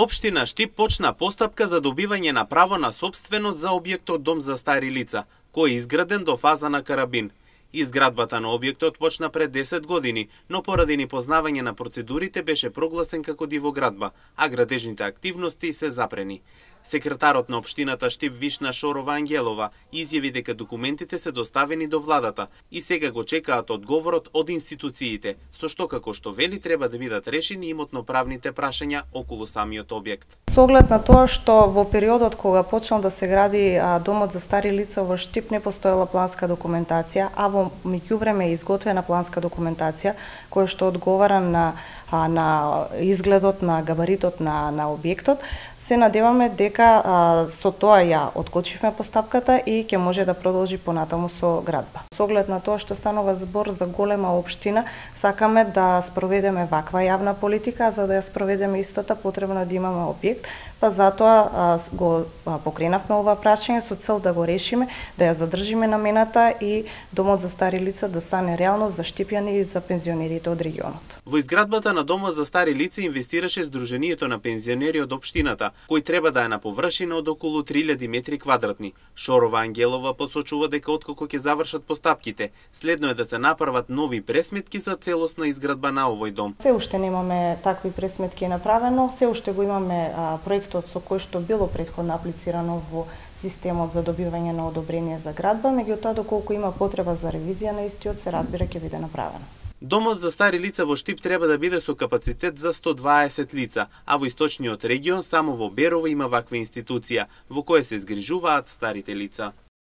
Општина Штип почна постапка за добивање на право на сопственост за објектот Дом за стари лица, кој е изграден до фаза на карабин. Изградбата на објектот почна пред 10 години, но поради непознавање на процедурите беше прогласен како дивоградба, а градежните активности се запрени. Секретарот на општината Штип Вишна Шорова Ангелова изјави дека документите се доставени до владата и сега го чекаат одговорот од институциите, со што како што вели треба да бидат решени имотно-правните прашања околу самиот објект. Со оглед на тоа што во периодот кога почнал да се гради домот за стари лица во Штип не постоела планска документација, а во меѓувреме е изготвена планска документација која што одговара на изгледот, на габаритот на објектот, се надеваме дека со тоа ја откочивме постапката и ќе може да продолжи понатаму со градба. Со оглед на тоа што станува збор за голема општина, сакаме да спроведеме ваква јавна политика, за да ја спроведеме истата потребно да имаме објект, па затоа го покренавме ова прашање со цел да го решиме, да ја задржиме намената и домот за стари лица да стане реалност за штипјани и за пензионерите од регионот. Во изградбата на домот за стари лица инвестираше Сдруженијето на пензионери од општината, кој треба да е на површина од околу 3000 метри квадратни. Шорова Ангелова посочува дека откако ќе завршат постапките, следно е да се направат нови пресметки за целосна изградба на овој дом. Се уште немаме такви пресметки направено, се уште го имаме проектот со кој што било претходно аплицирано во системот за добивање на одобрение за градба, меѓутоа доколку има потреба за ревизија на истиот се разбира ќе биде направено. Домот за стари лица во Штип треба да биде со капацитет за 120 лица, а во источниот регион само во Берово има ваква институција, во која се згрижуваат старите лица.